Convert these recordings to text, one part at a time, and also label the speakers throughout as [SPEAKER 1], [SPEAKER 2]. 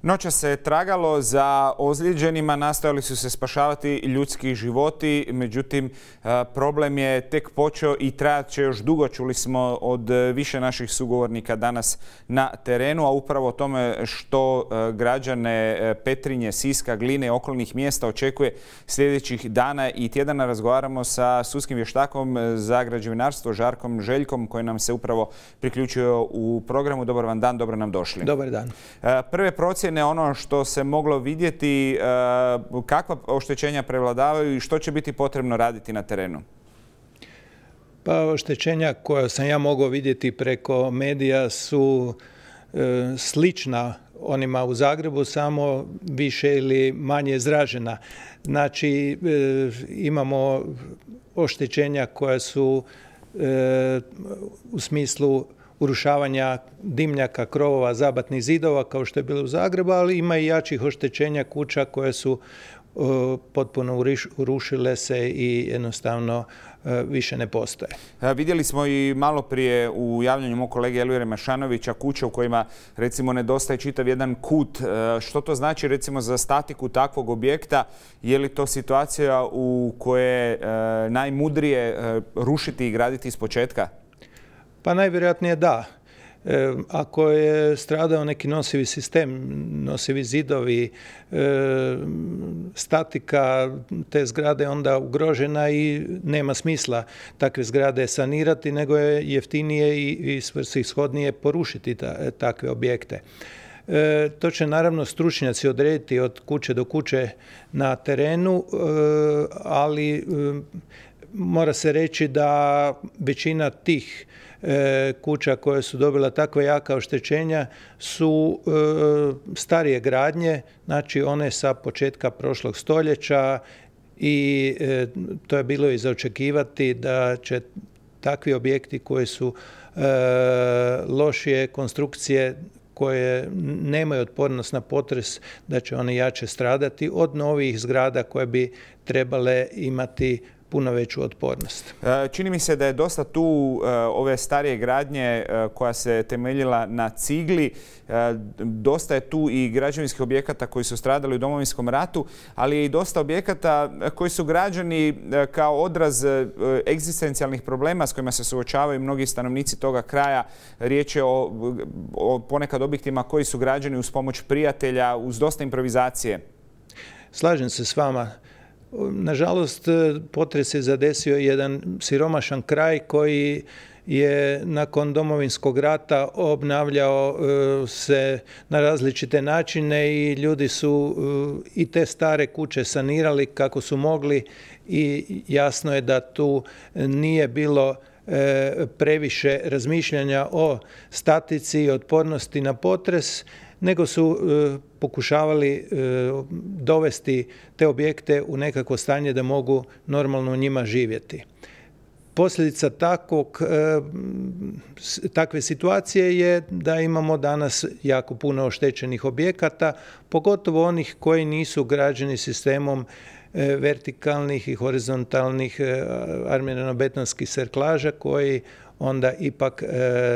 [SPEAKER 1] Noćas se tragalo za ozlijeđenima, nastojali su se spašavati ljudski životi, međutim problem je tek počeo i trajat će još dugo. Čuli smo od više naših sugovornika danas na terenu, a upravo o tome što građane Petrinje, Siska, Gline i okolnih mjesta očekuje sljedećih dana i tjedana razgovaramo sa sudskim vještakom za građevinarstvo Žarkom Željkom koji nam se upravo priključio u programu. Dobar vam dan, dobro nam došli.
[SPEAKER 2] Dobar dan.
[SPEAKER 1] Prve procjene, ono što se moglo vidjeti, kakva oštećenja prevladavaju i što će biti potrebno raditi na terenu?
[SPEAKER 2] Pa oštećenja koja sam ja mogao vidjeti preko medija su slična onima u Zagrebu, samo više ili manje izražena. Znači, imamo oštećenja koja su u smislu urušavanja dimnjaka, krovova, zabatnih zidova, kao što je bilo u Zagrebu, ali ima i jačih oštećenja kuća koje su potpuno urušile se i jednostavno više ne postoje.
[SPEAKER 1] Vidjeli smo i malo prije u javljanju mog kolege Elvira Mešanovića kuće u kojima recimo nedostaje čitav jedan kut. Što to znači recimo za statiku takvog objekta? Je li to situacija u kojoj je najmudrije rušiti i graditi iz početka?
[SPEAKER 2] Pa najvjerojatnije da. Ako je stradao neki nosivi sistem, nosivi zidovi, statika te zgrade onda ugrožena i nema smisla takve zgrade sanirati, nego je jeftinije i svrsishodnije porušiti takve objekte. To će naravno stručnjaci odrediti od kuće do kuće na terenu, ali mora se reći da većina tih kuća koje su dobila takva jaka oštećenja su starije gradnje, znači one sa početka prošlog stoljeća i to je bilo i za očekivati da će takvi objekti koji su lošije konstrukcije, koje nemaju otpornost na potres, da će one jače stradati od novih zgrada koje bi trebale imati puno veću otpornost.
[SPEAKER 1] Čini mi se da je dosta tu ove starije gradnje koja se temeljila na cigli. Dosta je tu i građevinskih objekata koji su stradali u Domovinskom ratu, ali je i dosta objekata koji su građeni kao odraz egzistencijalnih problema s kojima se suočavaju mnogi stanovnici toga kraja. Riječ je o ponekad objektima koji su građeni uz pomoć prijatelja, uz dosta improvizacije.
[SPEAKER 2] Slažem se s vama. Nažalost, potres je zadesio jedan siromašan kraj koji je nakon Domovinskog rata obnavljao se na različite načine i ljudi su i te stare kuće sanirali kako su mogli i jasno je da tu nije bilo previše razmišljanja o statici i otpornosti na potres, nego su pokušavali dovesti te objekte u nekakvo stanje da mogu normalno u njima živjeti. Posljedica takve situacije je da imamo danas jako puno oštećenih objekata, pogotovo onih koji nisu građeni sistemom vertikalnih i horizontalnih armirano-betonskih serklaža koji onda ipak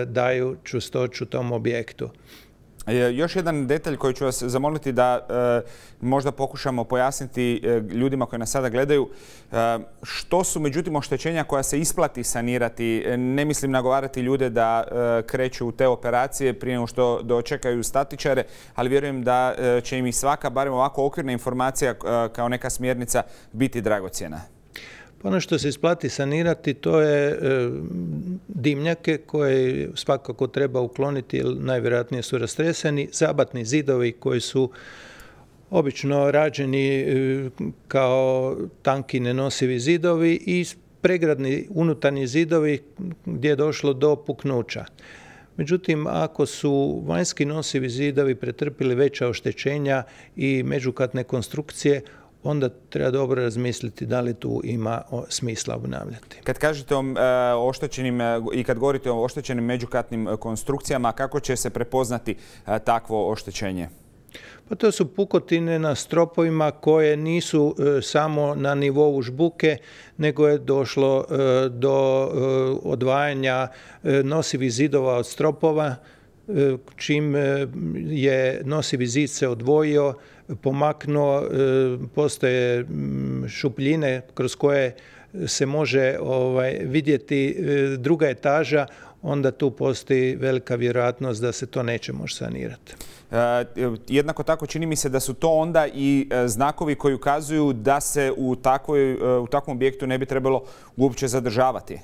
[SPEAKER 2] daju čvrstoću tom objektu.
[SPEAKER 1] Još jedan detalj koji ću vas zamoliti da možda pokušamo pojasniti ljudima koji nas sada gledaju. Što su međutim oštećenja koja se isplati sanirati? Ne mislim nagovarati ljude da kreću u te operacije prije nego što dočekaju statičare, ali vjerujem da će im i svaka, barem ovako okvirna informacija kao neka smjernica, biti dragocjena.
[SPEAKER 2] Ono što se isplati sanirati to je dimnjake koje svakako treba ukloniti jer najvjerojatnije su rastreseni, zabatni zidovi koji su obično rađeni kao tanki nenosivi zidovi i pregradni unutarnji zidovi gdje je došlo do puknuća. Međutim, ako su vanjski nosivi zidovi pretrpili veća oštećenja i međukatne konstrukcije, onda treba dobro razmisliti da li tu ima smisla obnavljati.
[SPEAKER 1] Kad kažete o oštećenim i kad govorite o oštećenim međukatnim konstrukcijama, kako će se prepoznati takvo oštećenje?
[SPEAKER 2] Pa to su pukotine na stropovima koje nisu samo na nivou žbuke, nego je došlo do odvajanja nosivih zidova od stropova čim je nosivi zid se odvojio, pomaknuo, postoje šupljine kroz koje se može vidjeti druga etaža, onda tu postoji velika vjerojatnost da se to neće moći sanirati.
[SPEAKER 1] Jednako tako čini mi se da su to onda i znakovi koji ukazuju da se u takvom objektu ne bi trebalo uopće zadržavati.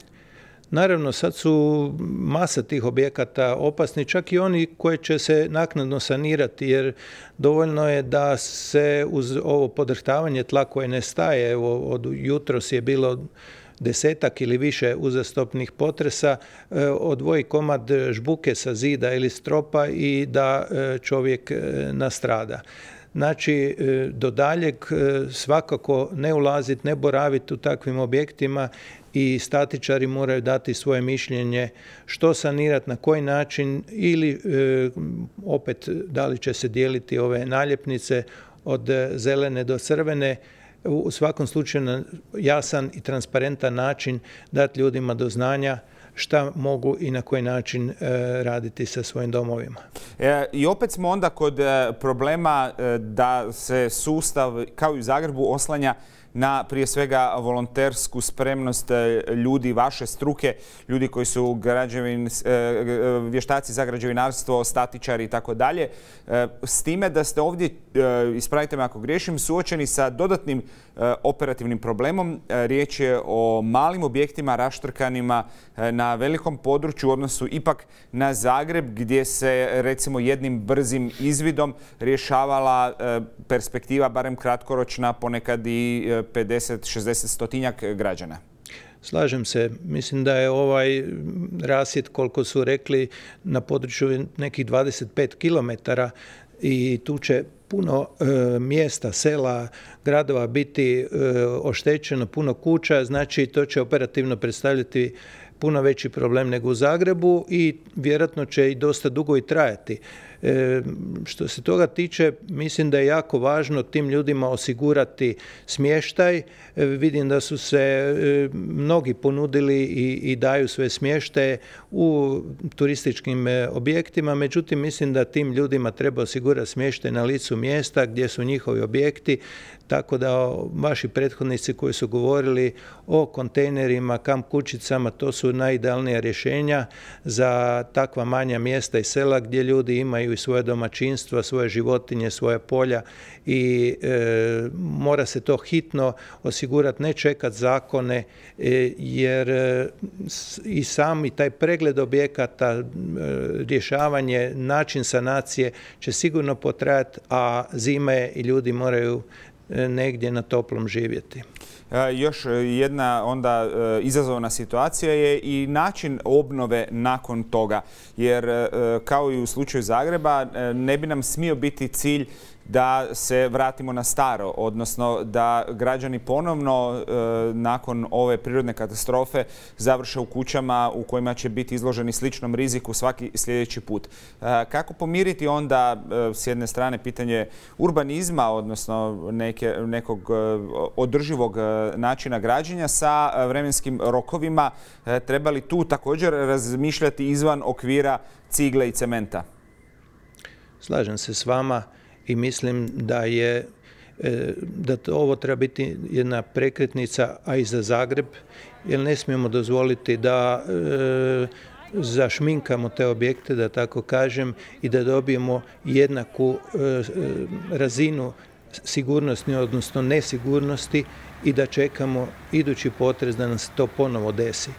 [SPEAKER 2] Naravno, sad su masa tih objekata opasni, čak i oni koji će se naknadno sanirati, jer dovoljno je da se uz ovo podrhtavanje tla koje ne staje, evo od jutros je bilo 10-ak ili više uzastopnih potresa, odvoji komad žbuke sa zida ili stropa i da čovjek nastrada. Znači, do daljeg svakako ne ulaziti, ne boraviti u takvim objektima i statičari moraju dati svoje mišljenje što sanirati, na koji način ili opet da li će se dijeliti ove naljepnice od zelene do crvene. U svakom slučaju na jasan i transparentan način dati ljudima do znanja šta mogu i na koji način raditi sa svojim domovima.
[SPEAKER 1] I opet smo onda kod problema da se sustav, kao i u Zagrebu, oslanja na prije svega volontersku spremnost ljudi vaše struke, ljudi koji su vještaci za građevinarstvo, statičari i tako dalje. S time da ste ovdje, ispravite me ako griješim, suočeni sa dodatnim operativnim problemom. Riječ je o malim objektima raštrkanima na velikom području u odnosu ipak na Zagreb, gdje se recimo jednim brzim izvidom rješavala perspektiva, barem kratkoročna, ponekad i 50, 60, stotinjak građana.
[SPEAKER 2] Slažem se. Mislim da je ovaj rasjed, koliko su rekli, na području nekih 25 kilometara i tu će puno mjesta, sela, gradova biti oštećeno, puno kuća, znači to će operativno predstavljati puno veći problem nego u Zagrebu i vjerojatno će i dosta dugo i trajati. Što se toga tiče, mislim da je jako važno tim ljudima osigurati smještaj. Vidim da su se mnogi ponudili i daju sve smještaje u turističkim objektima, međutim mislim da tim ljudima treba osigurati smještaj na licu mjesta gdje su njihovi objekti, tako da vaši prethodnici koji su govorili o kontejnerima, kamp kućicama, to su najidealnija rješenja za takva manja mjesta i sela gdje ljudi imaju i svoje domaćinstva, svoje životinje, svoja polja i mora se to hitno osigurati, ne čekati zakone, jer i sami taj pregled objekata, rješavanje, način sanacije će sigurno potrajati, a zime i ljudi moraju negdje na toplom živjeti.
[SPEAKER 1] Još jedna onda izazovna situacija je i način obnove nakon toga, jer kao i u slučaju Zagreba ne bi nam smio biti cilj da se vratimo na staro, odnosno da građani ponovno nakon ove prirodne katastrofe završe u kućama u kojima će biti izloženi sličnom riziku svaki sljedeći put. Kako pomiriti onda s jedne strane pitanje urbanizma, odnosno nekog održivog načina građenja sa vremenskim rokovima? Treba li tu također razmišljati izvan okvira cigle i cementa?
[SPEAKER 2] Slažem se s vama. I mislim da ovo treba biti jedna prekretnica, a i za Zagreb, jer ne smijemo dozvoliti da zašminkamo te objekte, da tako kažem, i da dobijemo jednaku razinu sigurnosti, odnosno nesigurnosti i da čekamo idući potres da nam se to ponovo desi.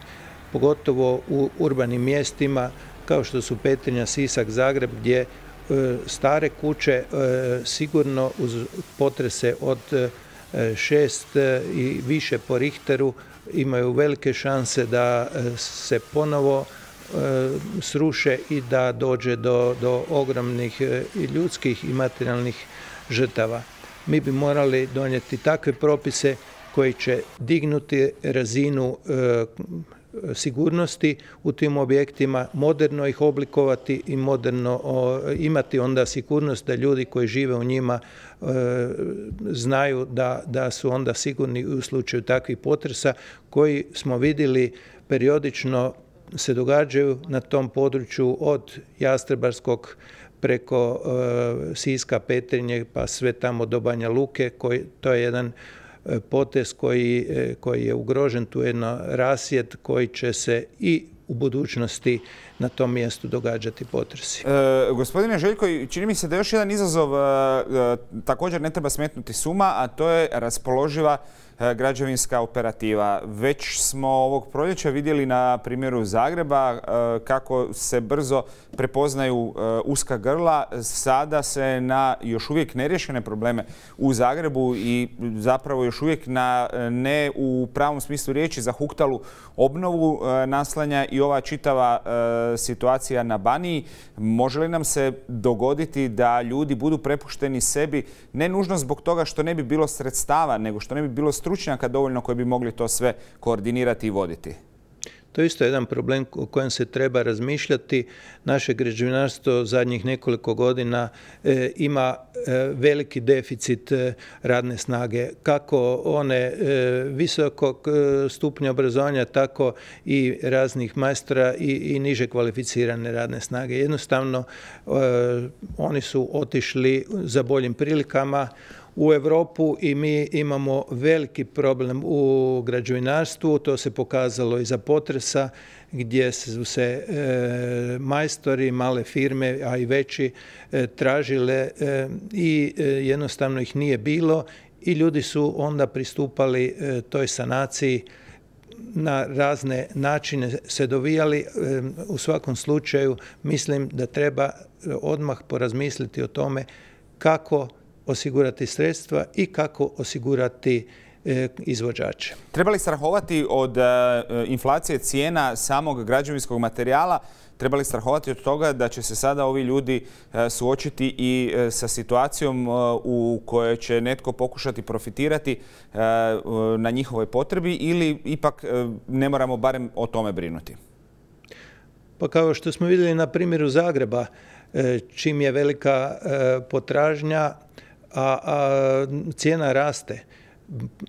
[SPEAKER 2] Pogotovo u urbanim mjestima kao što su Petrinja, Sisak, Zagreb, gdje stare kuće sigurno uz potrese od 6 i više po Richteru imaju velike šanse da se ponovo sruše i da dođe do ogromnih ljudskih i materijalnih žrtava. Mi bi morali donijeti takve propise koji će dignuti razinu sigurnosti u tim objektima, moderno ih oblikovati i moderno imati onda sigurnost da ljudi koji žive u njima znaju da su onda sigurni u slučaju takvih potresa koji smo vidjeli periodično se događaju na tom području od Jastrebarskog preko Siska, Petrinje pa sve tamo do Banja Luke. To je jedan potez koji je ugrožen, tu je jedno rasjed koji će se i u budućnosti na tom mjestu događati potresi.
[SPEAKER 1] Gospodine Željko, čini mi se da još jedan izazov također ne treba smetnuti s uma, a to je raspoloživa građevinska operativa. Već smo ovog proljeća vidjeli na primjeru Zagreba kako se brzo prepoznaju uska grla. Sada se na još uvijek neriješene probleme u Zagrebu i zapravo još uvijek na ne u pravom smislu riječi zahuktalu obnovu naslanja i ova čitava situacija na Baniji. Može li nam se dogoditi da ljudi budu prepušteni sebi, ne nužno zbog toga što ne bi bilo sredstava, nego što ne bi bilo stručnjaka dovoljno koji bi mogli to sve koordinirati i voditi?
[SPEAKER 2] To je isto jedan problem o kojem se treba razmišljati. Naše građevinarstvo zadnjih nekoliko godina ima veliki deficit radne snage, kako one visokog stupnja obrazovanja, tako i raznih majstora i niže kvalificirane radne snage. Jednostavno, oni su otišli za boljim prilikama u Europu i mi imamo veliki problem u građevinarstvu. To se pokazalo iza potresa gdje su se majstori, male firme, a i veći tražile i jednostavno ih nije bilo i ljudi su onda pristupali toj sanaciji na razne načine se dovijali. U svakom slučaju mislim da treba odmah porazmisliti o tome kako osigurati sredstva i kako osigurati izvođače.
[SPEAKER 1] Treba li strahovati od inflacije cijena samog građevinskog materijala? Treba li strahovati od toga da će se sada ovi ljudi suočiti i sa situacijom u kojoj će netko pokušati profitirati na njihovoj potrebi ili ipak ne moramo barem o tome brinuti?
[SPEAKER 2] Pa kao što smo vidjeli na primjeru Zagreba, čim je velika potražnja, a cijena raste.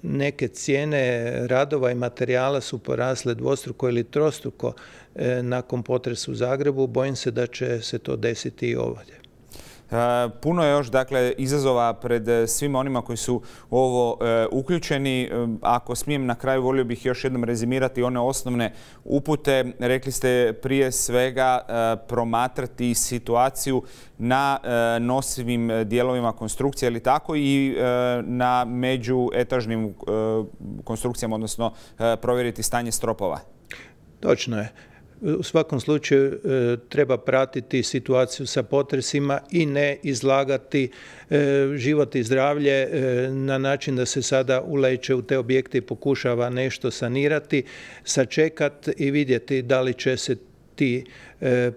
[SPEAKER 2] Neke cijene radova i materijala su porasle dvostruko ili trostruko nakon potresa u Zagrebu. Bojim se da će se to desiti i ovdje.
[SPEAKER 1] Puno je još izazova pred svima onima koji su u ovo uključeni. Ako smijem na kraju, volio bih još jednom rezimirati one osnovne upute. Rekli ste prije svega promatrati situaciju na nosivim dijelovima konstrukcije, ili tako, i na međuetažnim konstrukcijama, odnosno provjeriti stanje stropova.
[SPEAKER 2] Točno je. U svakom slučaju treba pratiti situaciju sa potresima i ne izlagati život i zdravlje na način da se sada uleće u te objekte i pokušava nešto sanirati, sačekati i vidjeti da li će se ti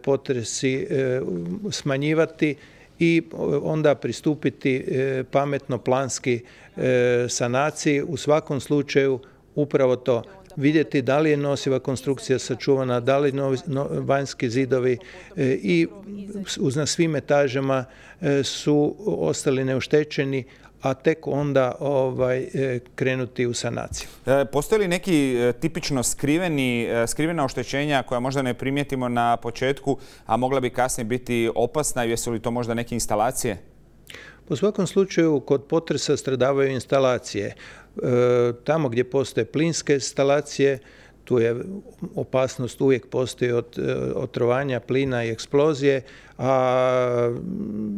[SPEAKER 2] potresi smanjivati i onda pristupiti pametno planski sanaciji. U svakom slučaju upravo to. Vidjeti da li je nosiva konstrukcija sačuvana, da li vanjski zidovi i na svim etažama su ostali neoštećeni, a tek onda krenuti u sanaciju.
[SPEAKER 1] Postoje li neki tipično skrivena oštećenja koja možda ne primijetimo na početku, a mogla bi kasnije biti opasna? Jesu li to možda neke instalacije?
[SPEAKER 2] U svakom slučaju kod potresa stradavaju instalacije. Tamo gdje postoje plinske instalacije, tu je opasnost, uvijek postoji od otrovanja plina i eksplozije, a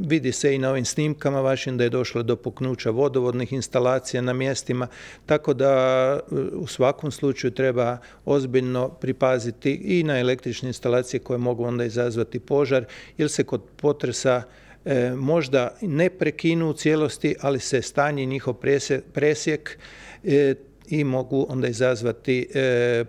[SPEAKER 2] vidi se i na ovim snimkama vašim da je došlo do puknuća vodovodnih instalacija na mjestima, tako da u svakom slučaju treba ozbiljno pripaziti i na električne instalacije koje mogu onda izazvati požar, jer se kod potresa možda ne prekinu u cijelosti, ali se stanje njihov presjek i mogu onda izazvati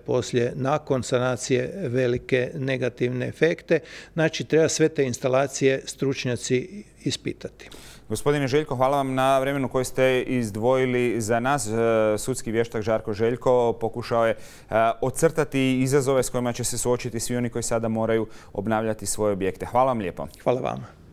[SPEAKER 2] poslije, nakon sanacije, velike negativne efekte. Znači, treba sve te instalacije stručnjaci ispitati.
[SPEAKER 1] Gospodine Željko, hvala vam na vremenu koje ste izdvojili za nas. Sudski vještak Žarko Željko pokušao je ocrtati izazove s kojima će se suočiti svi oni koji sada moraju obnavljati svoje objekte. Hvala vam lijepo.
[SPEAKER 2] Hvala vama.